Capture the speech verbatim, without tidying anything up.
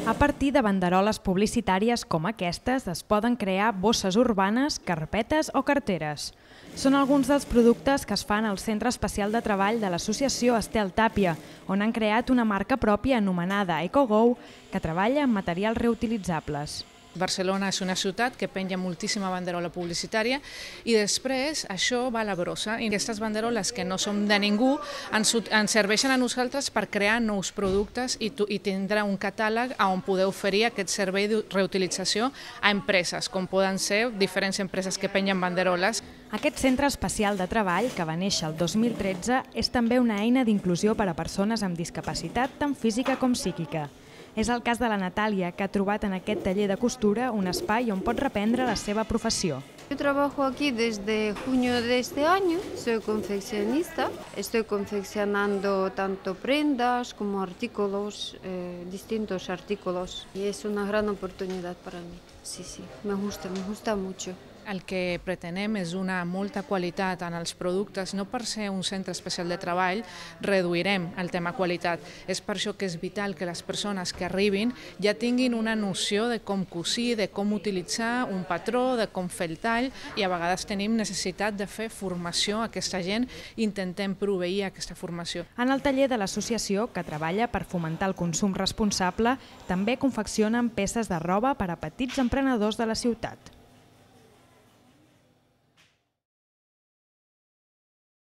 A partir de banderoles publicitàries com aquestes es poden crear bosses urbanes, carpetes o carteres. Són alguns dels productes que es fan al Centre Especial de Treball de l'Associació Estel Tàpia, on han creat una marca pròpia anomenada EcoGo, que treballa amb materials reutilitzables. Barcelona és una ciutat que penja moltíssima banderola publicitària i després això va a la brossa. I aquestes banderoles que no són de ningú ens, ens serveixen a nosaltres per crear nous productes i, i tindre un catàleg on poder oferir aquest servei de reutilització a empreses, com poden ser diferents empreses que pengen banderoles. Aquest Centre Especial de Treball, que va néixer el dos mil tretze, és també una eina d'inclusió per a persones amb discapacitat tant física com psíquica. És el cas de la Natàlia, que ha trobat en aquest taller de costura un espai on pot reprendre la seva professió. Yo trabajo aquí desde junio de este año, soy confeccionista, estoy confeccionando tanto prendas como artículos, eh, distintos artículos, y es una gran oportunidad para mí. Sí, sí, me gusta, me gusta mucho. El que pretenem és una molta qualitat en els productes. No per ser un centre especial de treball reduirem el tema qualitat. És per això que és vital que les persones que arribin ja tinguin una noció de com cosir, de com utilitzar un patró, de com fer el tall, i a vegades tenim necessitat de fer formació a aquesta gent i intentem proveir aquesta formació. En el taller de l'associació, que treballa per fomentar el consum responsable, també confeccionen peces de roba per a petits emprenedors de la ciutat.